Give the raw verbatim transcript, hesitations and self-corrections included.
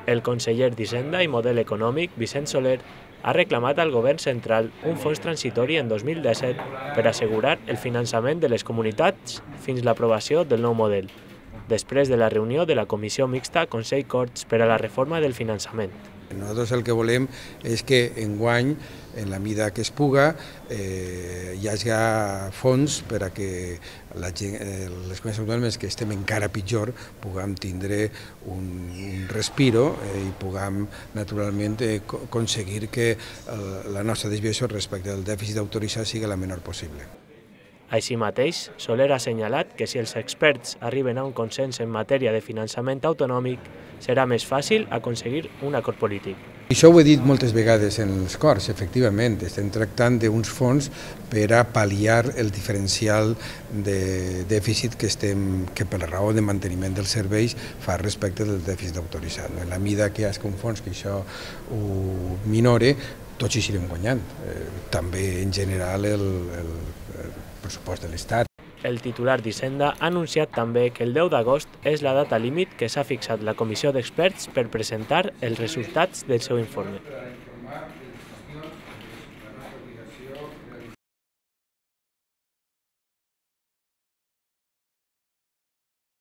El conseller d'Hisenda i Model Econòmic, Vicent Soler, ha reclamat al govern central un fons transitori en dos mil disset per assegurar el finançament de les comunitats fins l'aprovació del nou model, després de la reunió de la Comissió Mixta Consell-Corts per a la reforma del finançament. Nosaltres el que volem és que enguany, en la mida que es puga, eh, hi hagi fons per a que la gent, eh, les comunitats autònomes que estem encara pitjor puguem tindre un, un respiro eh, i puguem naturalment eh, aconseguir que eh, la nostra desviació respecte al dèficit autoritzat sigui la menor possible. Així mateix, Soler ha assenyalat que si els experts arriben a un consens en matèria de finançament autonòmic, serà més fàcil aconseguir un acord polític. Això ho he dit moltes vegades en els Corts, efectivament, estem tractant d'uns fons per a pal·liar el diferencial de dèficit que, estem, que per raó de manteniment dels serveis fa respecte del dèficit autoritzat. En la mida que hi hagi un fons que això ho minore, tots hi anirem guanyant. Eh, també en general el, el, el pressupost de l'Estat. El titular d'Hisenda ha anunciat també que el deu d'agost és la data límit que s'ha fixat la comissió d'experts per presentar els resultats del seu informe.